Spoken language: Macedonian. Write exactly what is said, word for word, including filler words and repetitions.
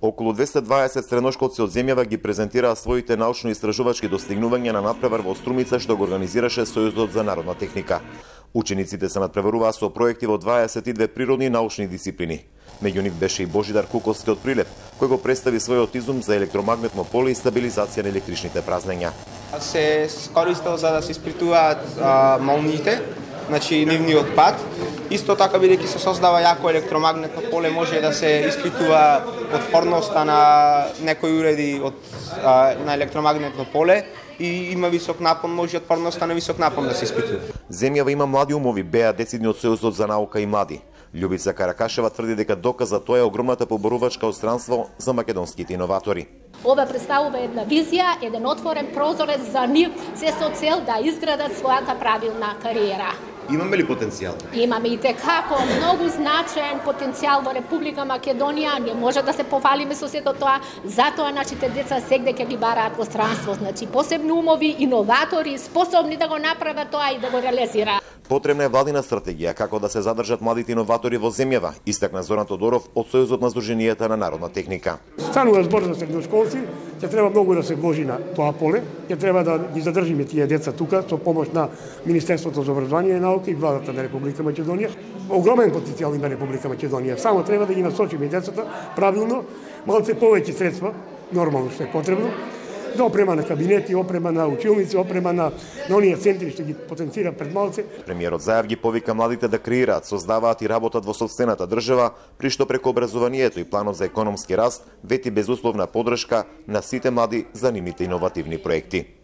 Околу двесте и дваесет средношколци од земјава ги презентираа своите научно-истражувачки достигнувања на надпревар во Струмица што го организираше Сојузот за народна техника. Учениците се надпреваруваа со проекти во дваесет и две природни и научни дисциплини. Меѓу нив беше и Божидар Куковски од Прилеп, кој го представи својот изум за електромагнетно поле и стабилизација на електричните празнења. Се користел за да се испитуваат а, молниите, значи нивниот пат. Исто така, бидејќи се создава јако електромагнетно поле, може да се испитува отпорноста на некои уреди од, а, на електромагнетно поле и има висок напон, може отпорноста на висок напон да се испитува. Земјава има млади умови, беа децидни од Сојузот за наука и млади. Љубица Каракашева тврди дека доказ за тоа е огромната поборувачка одстранство за македонските иноватори. Ова представува една визија, еден отворен прозорец за нив, се со цел да изградат својата правилна кариера. Имаме ли потенцијал? Имаме и текако многу значаен потенцијал во Република Македонија, не може да се пофалиме со сето тоа, затоа нашите деца сегде ќе ги бараат во странство, значи посебни умови, иноватори, способни да го направат тоа и да го реализираат. Потребна е владина стратегија како да се задржат младите иноватори во земјава, истакна Зоран Тодоров од Сојузот на Сдруженијата на народна техника. Станува збор за средношколци, ќе треба многу да се вложи на тоа поле, ќе треба да ги задржиме тие деца тука со помош на Министерството за образование и наука и владата на Република Македонија. Огромен потенцијал има Република Македонија, само треба да ги насочиме децата правилно, малце повеќе средства, нормално што е потребно, за опрема на кабинети, опрема на училници, опрема на, на оние центри што ги потенцира пред малце. Премиерот Заев ги повика младите да креираат, создаваат и работат во сопствената држава, при што преку образованието и планот за економски раст вети безусловна поддршка на сите млади за нивните иновативни проекти.